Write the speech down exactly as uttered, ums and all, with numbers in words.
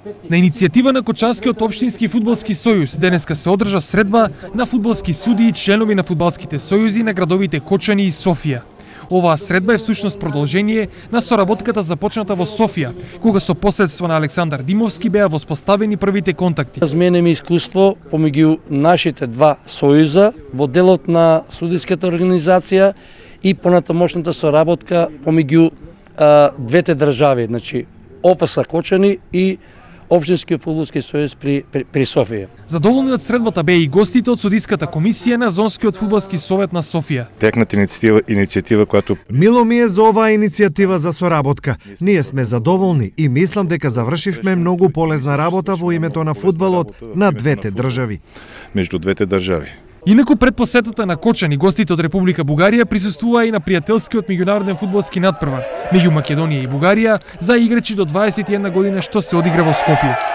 На иницијатива на Кочанскиот општински фудбалски сојуз денеска се одржа средба на фудбалски судии и членови на фудбалските сојузи на градовите Кочани и Софија. Оваа средба е всушност продолжение на соработката започната во Софија, кога со посредство на Александар Димовски беа воспоставени првите контакти. Разменеме искуство помеѓу нашите два сојуза во делот на судиската организација и понатамошната соработка помеѓу а, двете држави, значи О Ф С Кочани и Општинскиот фудбалски сојуз при, при, при Софија. Задоволни од средбата беа и гостите од судиската комисија на Зонскиот фудбалски совет на Софија. Текната иницијатива, иницијатива която Мило ми е за оваа иницијатива за соработка. Ние сме задоволни и мислам дека завршивме многу полезна работа во името на фудбалот на двете држави. Меѓу двете држави. Инаку пред посетата на Кочани, гостите од Република Бугарија присуствуваа и на пријателскиот меѓународен фудбалски надпревар меѓу Македонија и Бугарија за играчи до дваесет и една година што се одигра во Скопје.